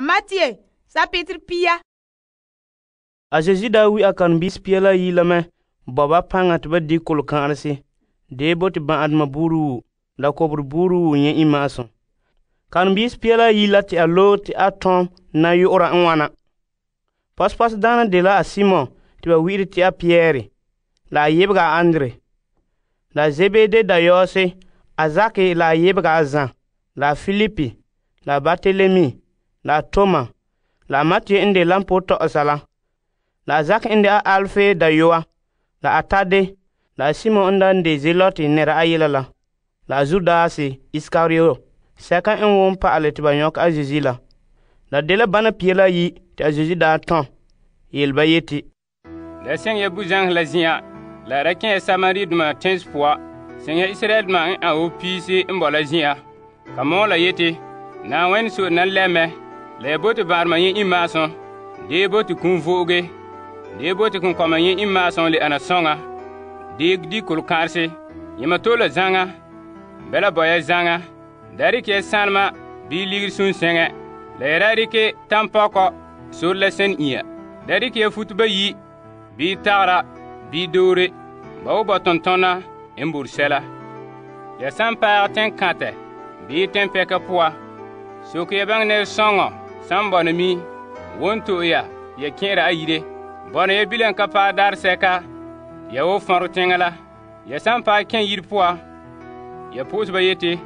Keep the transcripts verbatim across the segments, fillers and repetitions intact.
Matthew, sapitr pia. A Zeezi daa wi a karen-biisi pia la ayi la mɛ bo ba paŋa te ba di' kolokã'arese dee bo te ban'ahedoma buuri la koberɛ buuri nyɛ' iŋma'asum. Karen-biisi pia la ayi la te a loe te a tom na yu'ura n wana. Pɔsepɔsɛdaana dela a Simon te ba wi'ire te a Pierre, la a yebega a Andre, la Zebede dayɔɔse a Zake la a yebega a Zan, la Filipi, la Bartelemi, la Toma, la Matthew n de lampoo tɔ'ɔsa la, la Zak n de a Alfe dayɔa, la Tade, la Simon n daa de Zelote nɛra ayela la, la Judas Iskariote, sɛka n won pa'ale te ba nyɔkɛ a Zeezi la. La dela bana pia la ayi te a Zeezi daa tɔn, yele ba yeti, La seŋ ya buzaŋa la zin'an, la ra kẽ ya Samaridoma teŋse poan, seŋ ya Israeldoma n an wo piisi n bo la zin'an. Ka mɔɔla yeti, Na'ayenɛ so'e na lɛ mɛ, la ya bote ba'arema nyɛ iŋma'asum, dee bote kum vo'oge, dee bote konkɔma nyɛ iŋma'asum le ana sɔŋa, dee di kolokã'arese, yɛma tole la zaŋa, bɛla bo ya zaŋa, da rike ya sanlema bii ligiri sunseŋɛ, la ya ra rike tampɔkɔ sore la sɛn inya. Da rike ya futo bayi, bii tagera, bii doore, ba wo bo tontɔna n bore sɛla. Ya san paag teŋkãtɛ bii tɛnpɛka poa, soke ya baŋɛ nɛresɔŋɔ san bɔna mi won to'e ya ya kẽera a yire. Bɔna ya bilam ka paɛ daarsɛka ya wo fãro teŋa la. Ya san paɛ kẽ yire poa, ya po'ose ba yeti,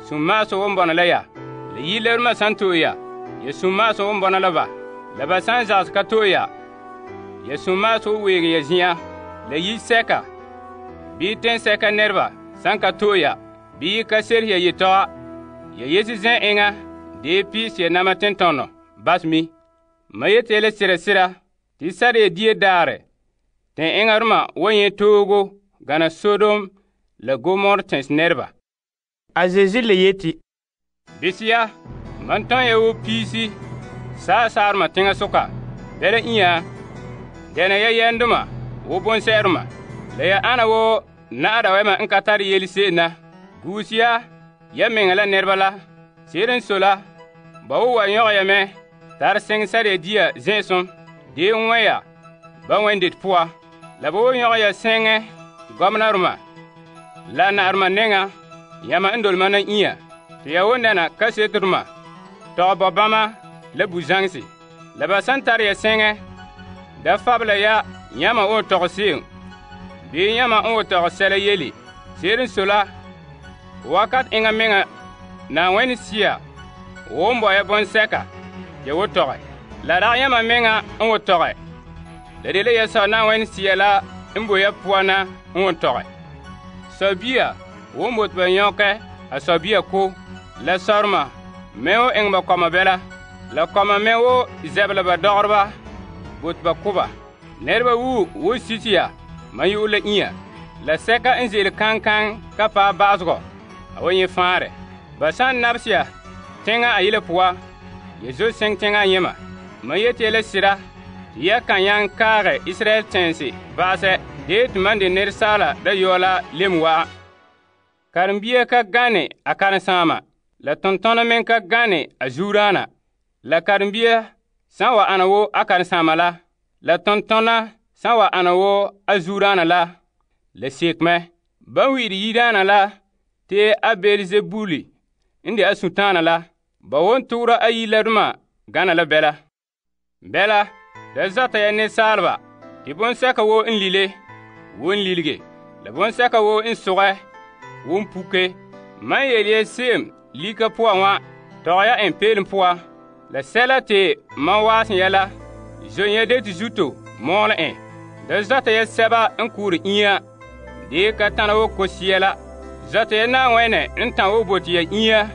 sum-maasum won bɔna la ya. La yire lɛbdoma san to'e ya, ya sum-maasum won bɔna la ba. La ba san zagsɛ ka to'e ya, ya sum-maasum wo weege ya zin'an. La yire sɛka bii tẽnsɛka nɛreba san ka to'e ya, bii ka serese ya yetɔga, ya yese zɛ' eŋa dee piise ya nama tentɔnɔ bas mi. Ma yete ya la sera sera te sare ya dia daarɛ tɛn eŋaroma wa nyɛ toogo gana Sodom la Gomor tɛnse nɛreba. A Zeezi le yeti, Bise ya, man tɔn ya wo piisi saasaarema teŋasoka, bɛla inya, dɛna ya yɛndoma wo bonsɛ'ɛrema, la ya ana wo na'ada wɛma n ka tare yele se'em na. Guuse ya, ya meŋa la nɛreba la. Se'ere n sɔe la, ba wo wa nyɔgɛ ya mɛ tare seŋ sare ya dia zɛ'ɛsum, dee n wɛ ya ba wɛn-det poa. La ba wo nyɔgɛ ya sɛŋɛ gɔmnarema la na'arema nɛŋa yãma n dole mana inya, te ya wo nɛna kaseterema tɔgɛ bo bãma la buzaŋse. La ba san tare ya sɛŋɛ, da fabela ya yãma n wo tɔgɛ se'em, bii yãma n wo tɔgɛ sɛla yele. Se'ere n sɔe la, wakat eŋa meŋa Na'ayenɛ Sea won bo ya bonsɛka ya wo tɔgɛ. La rag yãma meŋa n wo tɔgɛ. La dela ya sɔ Na'ayenɛ Sea la n bo ya poan na n wo tɔgɛ. Sɔbia won bote ba nyɔkɛ a sɔbia ko, la sɔrema me wo eŋɛ ba kɔma bɛla, la kɔma me wo zɛbela ba dɔgereba bote ba ko ba. Nɛreba wu wo sitiya man yu'ur la inya, la sɛka n ze'ele kankan ka paɛ ba'asegɔ, a wa nyɛ fãare. Ba san nabse ya teŋa a yele poa, ya zo seŋ teŋa a yẽma. Ma yete ya la sira tɩ ya kan nyaŋ kaagɛ Israɛl tẽnse ba'asɛ, dee tɩ man de nɛresaala dayɔɔ la lem wa'an. Karen-bia ka gane a karen-sãama, la tontɔna meŋ ka gane a zuuraana. La karen-bia san wa ana wo a karen-sãama la, la tontɔna san wa ana wo a zuuraana la, la sek mɛ. Ban wi'ire yidaana la te a Beelzebuli n de a sũtaana la, ba won togera a yiladoma gana la bɛla. Bɛla, da zata ya nensaaleba tɩ bonsɛka woo n lile, won lilige, la bonsɛka woo n sogɛ, won puke. Man yel ya se'em lika poa wã, tɔg ya en peelem poa. La sɛla te man waasen ya la, zon ya de tɩ zuto mɔɔlɛ en. Da zata ya sɛba n kʋʋre inya, dee ka tãna wo ko-sia la. Zata ya Na'ayenɛ n tã wo bote ya inya,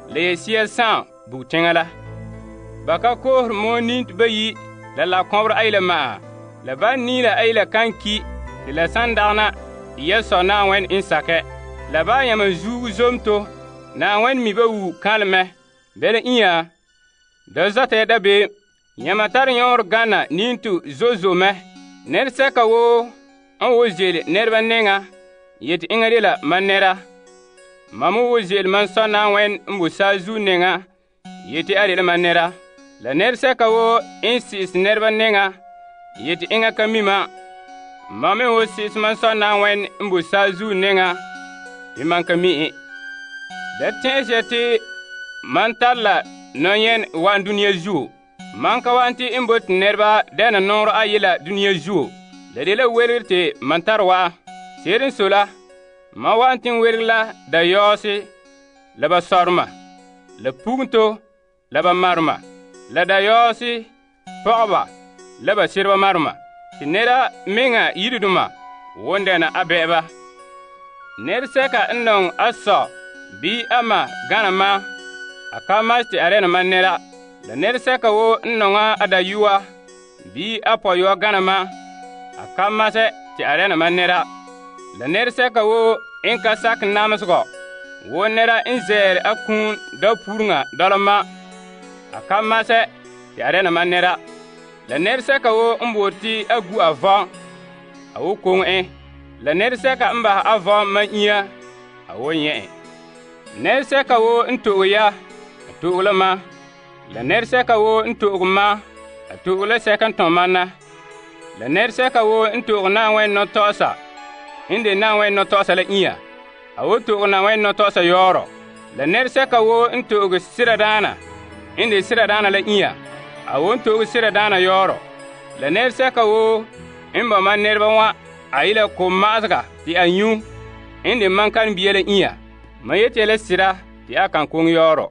la ya sia sãam bug teŋa la. Ba ka koosere moon nint bayi la lakɔbɔrɔ ayila ma'a. La ba niila ayila kan ki tɩ la san dagana ya sɔ Na'ayenɛ n sakɛ. La ba yãma zuugu zomto, Na'ayenɛ mi ba wu kalmɛ. Bɛla inya, da zata ya dabeem, yãma tare yõor gana ninto zozo mɛ. Nɛresɛka woo n wo zeele nɛreba nɛŋa yeti eŋa de la man nɛra. Mam wo zeele man sɔ Na'ayenɛ n bo saazuo nɛŋa yeti a de la man nɛra. La nɛresɛka woo n si'ise nɛreba nɛŋa yete enŋa ka mi mam, mam me woo si'ise mam Sɔ Na'ayenɛ n boe saazuo nɛŋa te mam ka mi en. Da tɛn'ɛse ya te mam tare la nɔyene wa'an dunia zuo. Mam ka wa'an te n bote nɛreba dɛna nɔɔrɛ ayela dunia zuo. La dela welegere te mam tare wa'an. Se'ere n sɔe la, mam wa'an te n weregɛ la dayɔɔse, la ba sɔrema, la pugunto, la ba marema, la dayɔɔse, pɔgɔba, la ba sereba marema, te nɛra meŋa yiredoma won dɛna a bɛ'ɛba. Nɛresɛka n nɔŋɛ a sɔ bii a ma gana mam, a ka mas te a dɛna mam nɛra. La nɛresɛka woo n nɔŋɛ a dayɔa bii a pɔyɔa gana mam, a ka masɛ te a dɛna mam nɛra. La nɛresɛka woo n ka sakɛ namesegɔ wo nɛra n zɛɛre a kum dapuureŋa dɔla mam, a ka masɛ te a dɛna mam nɛra. La nɛresɛka woo n boore te a gu a vɔn, a wo koŋe en. La nɛresɛka n bahɛ a vɔn mam inya, a wo nyɛ en. Nɛresɛka woo n to'e ya, a to'e la mam. La nɛresɛka woo n to'e mam, a to'e la sɛka n tɔn mam na. La nɛresɛka woo n to'e Na'ayenɛ nɔtɔgɔsa n de Na'ayenɛ nɔtɔgɔsa la inya, a wo to'e Na'ayenɛ nɔtɔgɔsa yɔɔrɔ. La nɛresɛka woo n to'e seradaana n de seradaana la inya, a wo n to'e seradaana yɔɔrɔ. La nɛresɛka woo n ba mam nɛreba wã a yela ko'ma'asega te a nyu n de mam kan bia la inya. Mam yeti ya la sera te a kan koŋe yɔɔrɔ.